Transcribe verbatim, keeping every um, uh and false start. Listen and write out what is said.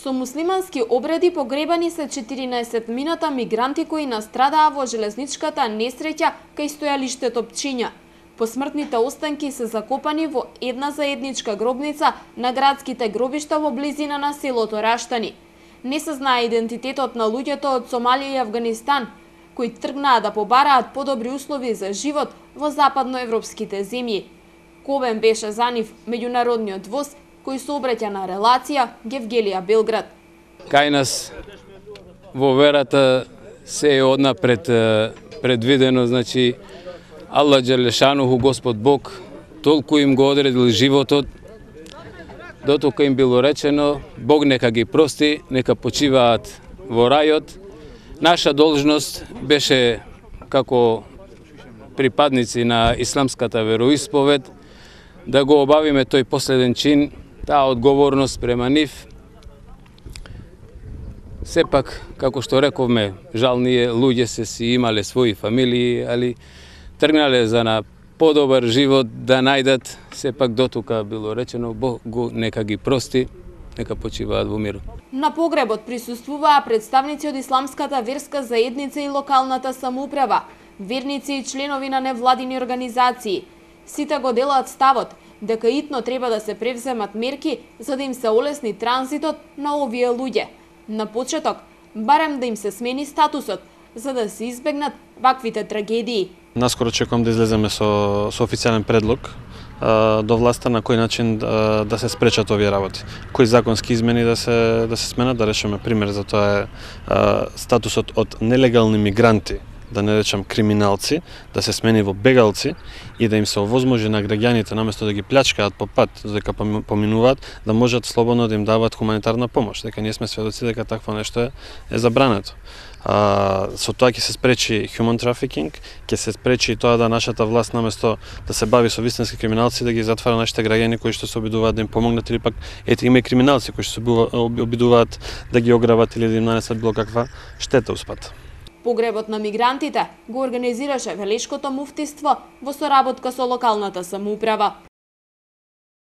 Со муслимански обреди погребани се четиринаесет мината мигранти кои настрадаа во железничката несреќа кај стојалиштето Пчиња. Посмртните останки се закопани во една заедничка гробница на градските гробишта во близина на селото Раштани. Не се знае идентитетот на луѓето од Сомалија и Авганистан, кои тргнаа да побараат подобри услови за живот во западноевропските земји. Кобен беше за нив меѓународниот воз кој се обраќа на релација Гевгелија Белград. Кај нас во верата се е однапред предвидено, значи Аллах Джелешануху, Господ Бог, толку им го одредил животот, дотока им било речено, Бог нека ги прости, нека почиваат во рајот. Наша должност беше како припадници на исламската вероисповед да го обавиме тој последен чин, таа одговорност према нив. Сепак, како што рековме, жал ние луѓе се си имале своји фамилии, али тргнале за на подобар живот да најдат, сепак дотука било речено, Бог го нека ги прости, нека почиваат во мир. На погребот присуствуваа представници од исламската верска заедница и локалната самоуправа, верници и членови на невладини организации. Сите го делат ставот дека итно треба да се превземат мерки за да им се олесни транзитот на овие луѓе. На почеток, барем да им се смени статусот, за да се избегнат ваквите трагедии. Наскоро чекам да излеземе со, со официјален предлог а, до власта на кој начин а, да се спречат овие работи. Кои законски измени да се да се сменат, да речеме пример за тоа е а, статусот од нелегални мигранти, да не речам криминалци, да се смени во бегалци и да им се овозможи на граѓаните наместо да ги плячкаат по пат, дека поминуваат, да можат слободно да им даваат хуманитарна помош. Дека ние сме сведоци дека такво нешто е, е забрането. А, со тоа ќе се спречи human trafficking, ќе се спречи тоа да нашата власт наместо да се бави со вистински криминалци да ги затвара нашите граѓани кои што се обидуваат да им помогнат или пак ете има и криминалци кои што се обидуваат да ги ограбат или да им нанесат било каква штета успат. Погребот на мигрантите го организираше Велешкото муфтиство во соработка со локалната самоуправа.